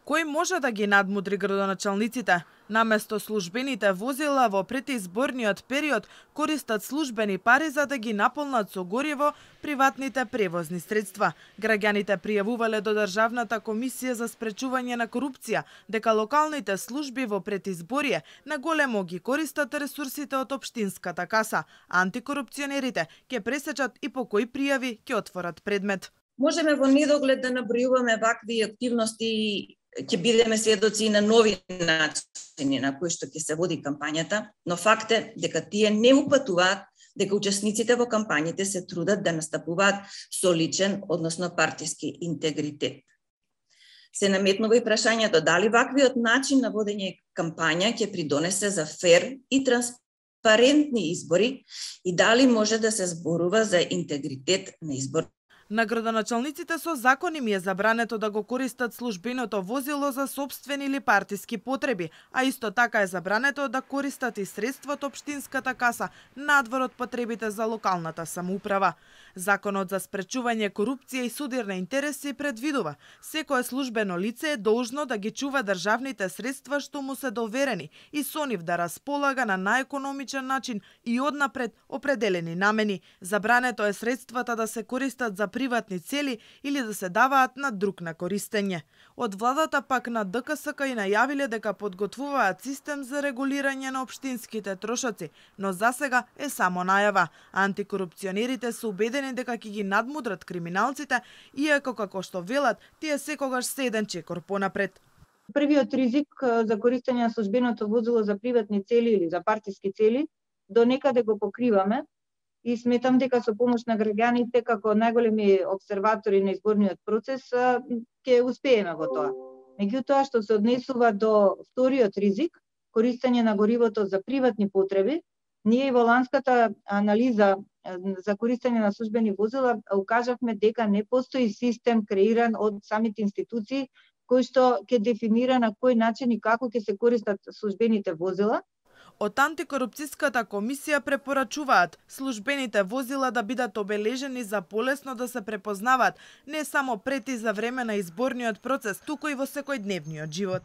Кој може да ги надмудри градоначалниците? Наместо службените возила во предизборниот период користат службени пари за да ги наполнат со гориво приватните превозни средства. Граѓаните пријавувале до Државната комисија за спречување на корупција дека локалните служби во предизборие наголемо ги користат ресурсите од општинската каса. Антикорупционерите ќе пресечат и по кои пријави ќе отворат предмет. Можеме во недоглед да набројуваме вакви активности, ќе бидеме сведоци на нови начини на кои што ќе се води кампањата, но факт е дека тие не упатуваат дека учесниците во кампањите се трудат да настапуваат со личен, односно партиски интегритет. Се наметнува и прашањето дали ваквиот начин на водење кампања ќе придонесе за фер и транспарентни избори и дали може да се зборува за интегритет на избор. На градоначалниците со закон им е забрането да го користат службеното возило за сопствени или партиски потреби, а исто така е забрането да користат и средства од општинската каса надвор од потребите за локалната самоуправа. Законот за спречување корупција и судир на интереси предвидува секое службено лице е должно да ги чува државните средства што му се доверени и со нив да располага на најекономичен начин и однапред определени намени. Забрането е средствата да се користат за приватни цели или да се даваат на друг на користење. Од владата пак на ДКСК и најавиле дека подготвуваат систем за регулирање на општинските трошоци, но засега е само најава. Антикорупционерите се убедени дека ќе ги надмудрат криминалците, иако како што велат, тие секогаш се еден чекор понапред. Првиот ризик за користење на службеното возило за приватни цели или за партиски цели до некаде го покриваме. И сметам дека со помош на граѓаните како најголеми обсерватори на изборниот процес ќе успееме во тоа. Меѓутоа што се однесува до вториот ризик, користење на горивото за приватни потреби, ние и во ланската анализа за користење на службени возила укажавме дека не постои систем креиран од самите институции кој што ќе дефинира на кој начин и како ќе се користат службените возила. Од антикорупцијската комисија препорачуваат службените возила да бидат обележени за полесно да се препознаваат не само пред и за време на изборниот процес, туку и во секојдневниот живот.